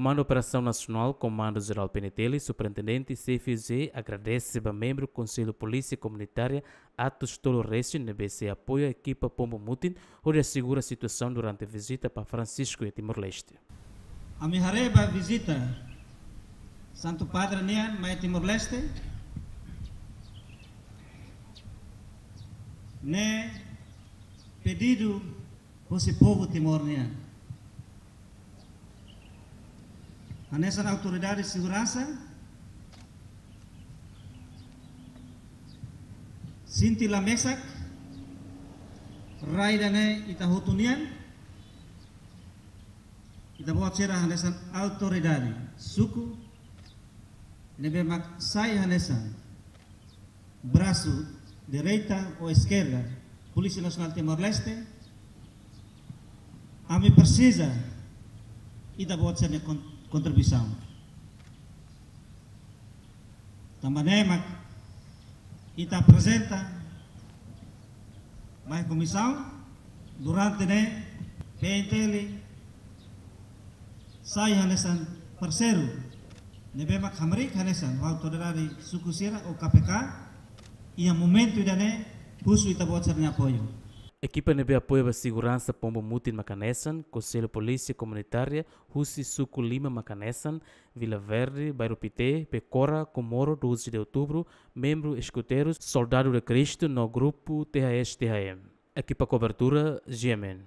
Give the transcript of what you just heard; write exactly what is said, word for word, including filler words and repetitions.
Komandu Operasaun Nasionál, Komandu Jerál P N T L, Superintendente C F Z agradese ba membru Konsellu Polísia Komunitária atus tolu resin ne'ebé sei apoia ekipa Pombo Mutin hodi asegura situasaun durante vizita ba Francisco iha Timor-Leste. Ami haree ba vizita Santu Padre nian mai Timor-Leste, ne'e pedidu husi povu Timor nian. Hanesan autoridade seguransa, sente la mesak, rai ida-ne'e ita hotu nian, ita-boot sira hanesan autoridade suku, ne'ebé mak sai hanesan brasu direita ou eskerda Polísia Nasionál Timor-Leste, ami presiza ita-boot sira-nia kon-, kontribuisaun. Tanba ne'e mak ita aprezenta ba komisaun durante ne'e P N T L sai hanesan parseiru ne'ebé mak hamriik hanesan ho autoridade suku sira ou K P K, iha momentu ida-ne'e husu ita-boot sira-nia apoiu. Ekipa ne'ebé apoia ba seguransa Pombo Mutin mak hanesan Konsellu Polísia Komunitária husi suku lima mak hanesan Vila Verde, Bairru Pité, Becora, Comoro, doze de Outubro, membru Escuteiros, Soldado de Cristo no grupu T H S T H M. Ekipa kobertura, G M N.